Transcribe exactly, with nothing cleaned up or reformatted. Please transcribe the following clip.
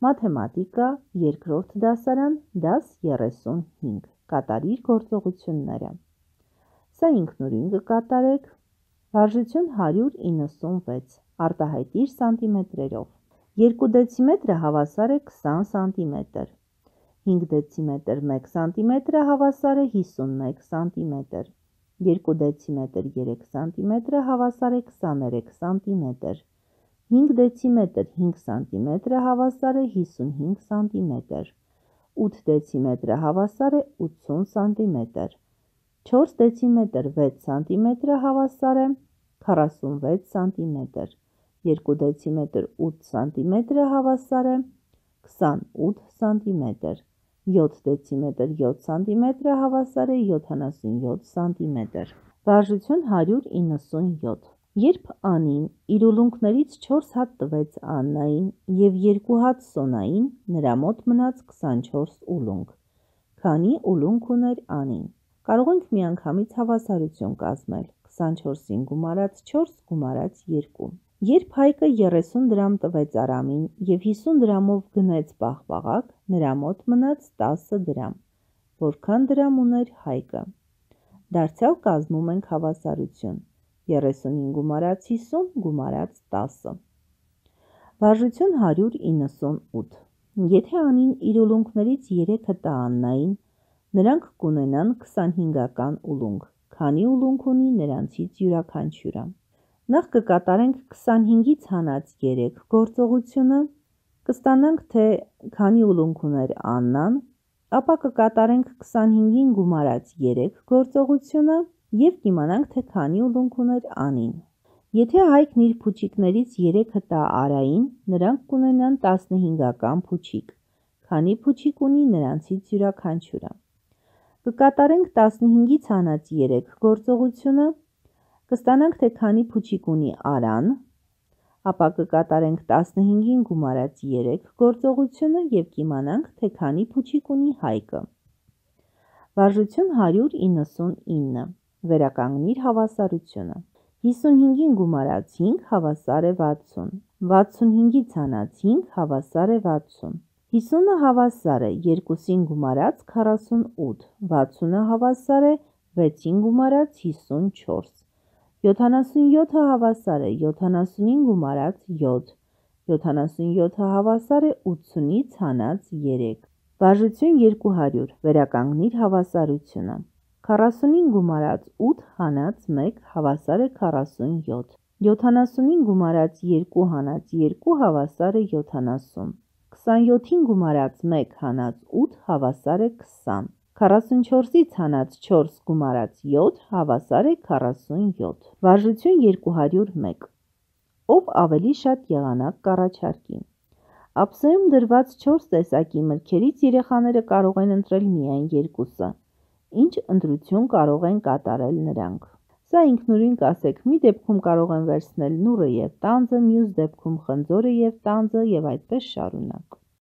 Մաթեմատիկա, երկրորդ դասարան, դաս երեսունհինգ, կատարիր գործողությունները։ Սա ինքնուրույն կկատարեք, վարժություն հարյուր իննսունվեց, արտահայտիր սանտիմետրերով։ երկու դեցիմետրը հավասար է քսան սանտիմետր, հինգ դեցիմետր մեկ սանտիմետրը հավասար է հիսունմեկ սանտիմետր, երկու դեցիմետր երեք սանտիմետրը հավասար է քսաներեք սանտիմետր, հինգ դեցիմետր հինգ սանտիմետրը հավասար է հիսունհինգ սանտիմետր, ութ դեցիմետրը հավասար է ութսուն սանտիմետր, չորս դեցիմետր վեց սանտիմետրը հավասար է քառասունվեց սանտիմետր, երկու դեցիմետր ութ սանտիմետրը հավասար է քսանութ սանտիմետր, յոթ դեցիմետր յոթ սանտիմետրը հավասար է յոթանասունյոթ սանտիմետր։ Վարժություն հարյուր իննսունյոթ։ Երբ Անին իր ուլունքներից չորս հատ տվեց Աննային և երկու հատ Սոնային, նրա մոտ մնաց քսանչորս ուլունք։ Քանի ուլունք ուներ Անին։ Կարող ենք միանգամից հավասարություն կազմել, քսանչորսին գումարած չորս գումարած երկու։ Երբ Հայկը երեսուն դրամ տվեց Արամին և հիսուն դրամով գնեց Պաղպաղակ, նրա մոտ մնաց տասը դրամ։ Որքան դրամ ուներ Հայկը։ Դարձյալ կազմում ենք հավասարություն, երեսունին գումարած հիսուն գումարած տասը։ Վարժություն հարյուր իննսունութ։ Եթե Անին իր ուլունքներից երեքը տա Աննային, նրանք կունենան քսանհինգական ուլունք, քանի ուլունք ունի նրանցից յուրաքանչյուրը։ Նախ կկատարենք քսանհինգից հանած երեք գործողությունը, կստանանք, թե քանի ուլունք ուներ Աննան, ապա կկատարենք քսանհինգին գումարած երեք գործողությունը և կիմանանք, թե քանի ուլունք ուներ Անին։ Եթե Հայկն իր փուչիկներից երեքը տա Արային, նրանք կունենան տասնհինգական փուչիկ, քանի փուչիկ ունի նրանցից յուրաքանչյուրը։ Կկատարենք տասնհինգից հանած երեք գործողությունը, կստանանք, թե քանի փուչիկ ունի Արան, ապա կկատարենք տասնհինգին գումարած երեք գործողությունը և կիմանանք, թե քանի փուչիկ ունի Հայկը։ Վարժություն հարյուր իննսունինը։ Վերականգնիր հավասարությունը։ հիսունհինգին գումարած հինգ հավասար է վաթսուն, վաթսունհինգից հանած հինգ հավասար է վաթսուն, հիսունը հավասար է երկուսին գումարած քառասունութ, վաթսունը հավասար է վեցին գումարած հիսունչորս, յոթանասունյոթը հավասար է յոթանասունին գումարած յոթ, յոթանասունյոթը հավասար է ութսունից հանած երեք։ Վարժություն երկու հարյուր, վերականգնիր հավասարությունը։ քառասունին գումարած ութ հանած մեկ հավասար է քառասունյոթ, յոթանասունին գումարած երկու հանած երկու հավասար է յոթանասուն, քսանյոթին գումարած մեկ հանած ութ հավասար է քսան, քառասունչորսից հանած չորս գումարած յոթ հավասար է քառասունյոթ։ Վարժություն երկու հարյուր մեկ։ Ով ավելի շատ եղանակ կառաջարկի։ Ափսեում դրված չորս տեսակի մրգերից երեխաները կարող են ընտրել միայն երկուսը։ Ինչ ընտրություն կարող են կատարել նրանք։ Սա ինքնուրույն կասեք, մի դեպքում կարող են վերցնել նուռը և տանձը, մյուս դեպքում խնձորը և տանձը և այդպես շարունակ։